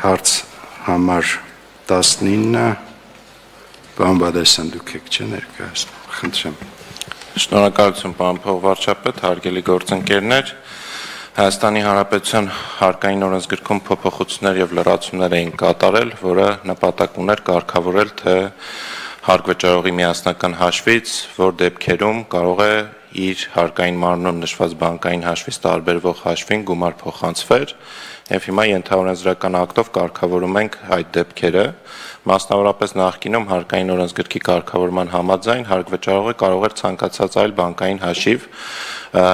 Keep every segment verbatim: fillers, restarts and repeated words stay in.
Հարց համար տասնինը պարոն Բադասյան դուք եք չէ ներկայացնում, խնդրեմ։ Շնորհակալություն պարոն փոխվարչապետ, հարգելի գործընկերներ, Հայաստանի Հանրապետության հարկային օրենսգրքում փոփոխություններ եւ լրացումներ էին կատարել, որը նպատակ ուներ կարգավորել, թե հարկ վճարողի միասնական հաշվից, որ դեպքերում կարող է իր հարկային մարմնում նշված բանկային հաշվից տարբերվող հաշվին գումար փոխանցվեր, եւ հիմա ենթաօրենսդրական ակտով կարգավորում ենք այդ դեպքերը, մասնավորապես նախկինում հարկային օրենսգրքի կարգավորման համաձայն հարկ վճարողը կարող էր ցանկացած այլ բանկային հաշիվ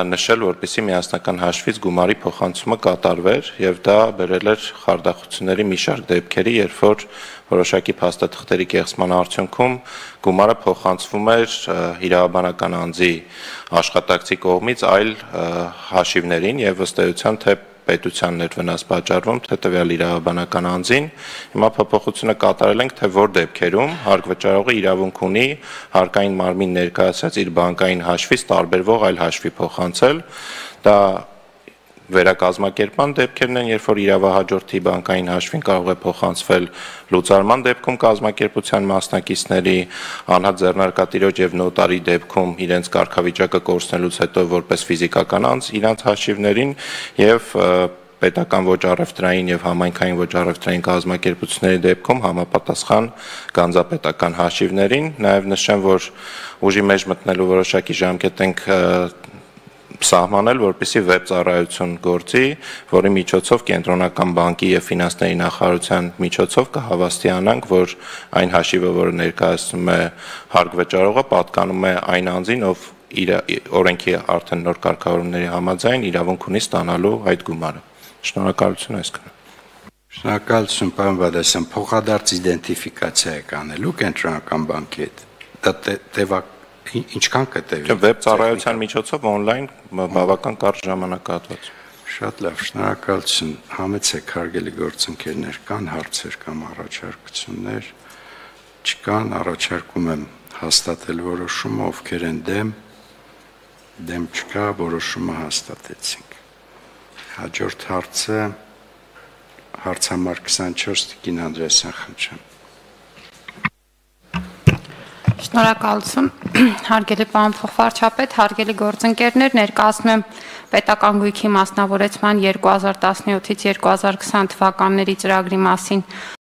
նշել, որպեսզի միասնական հաշվից գումարի փոխանցումը կատարվեր եւ դա բերել էր խարդախությունների մի շարք դեպքերի, երբ որ որոշակի փաստաթղթերի կեղծման արդյունքում գումարը փոխանցվում էր իրավաբանական անձի աշխատակցի կողմից այլ հաշիվներին եւ ըստ էության թե պետության ներվնաս պատճառվում, թե տվյալ իրավաբանական անձին, հիմա փոփոխությունը կատարել ենք, թե որ դեպքերում հարկ վճարողը իրավունք ունի հարկային մարմին ներկայացած իր բանկային հաշվից տարբերվող այլ հաշվի փոխանցել, դա վերակազմակերպման դեպքերն են, երբ որ իրավահաջորդի բանկային հաշվին կարող է փոխանցվել լուծարման դեպքում կազմակերպության մասնակիցների, անհատ ձեռնարկատիրոջ եւ նոտարի դեպքում իրենց կարգավիճակը կորցնելուց հետո որպես ֆիզիկական անձ իրանց հաշիվներին եւ պետական ոչ առևտրային եւ համայնքային ոչ առևտրային կազմակերպությունների դեպքում համապատասխան գանձապետական հաշիվներին, նաեւ նշեմ, որ ուժի մեջ մտնելու որոշակի ժամկետ ենք սահմանել, որպեսզի վեբ ծառայություն գործի, որի միջոցով կենտրոնական բանկի եւ ֆինանսների նախարարության միջոցով կհավաստիանանք, որ այն հաշիվը, որը ներկայացնում է հարկ վճարողը, պատկանում է այն անձին, ով իր օրենքի արդեն նոր կարգավորումների համաձայն իրավունք ունի ստանալու այդ գումարը։ Շնորհակալություն այսքան։ Շնորհակալություն պարոն Բադասյան, փոխադարձ իդենտիֆիկացիա եք անելու կենտրոնական բանկի հետ։ Դա տևակ ինչքան կտևի։ Վեբ ծառայության միջոցով on-line բավական կարճ ժամանակահատված։ Շատ լավ, շնորհակալություն։ Համեցեք հարգելի գործընկերներ, կան հարցեր կամ առաջարկություններ, չկան, առաջարկում եմ հաստատել որոշումը, ովքեր են դեմ, դեմ չկա, որոշումը հաստատեցինք։ Հաջորդ հարցը հարց համար քսանչորս Տիկին Անդրեասյան, խնդրեմ։ Շնորհակալություն, հարգելի պարոն փոխվարչապետ, հարգելի գործընկերներ, ներկայացնում եմ պետական գույքի մասնավորեցման երկու հազար տասնյոթից երկու հազար քսան թվականների ծրագրի մասին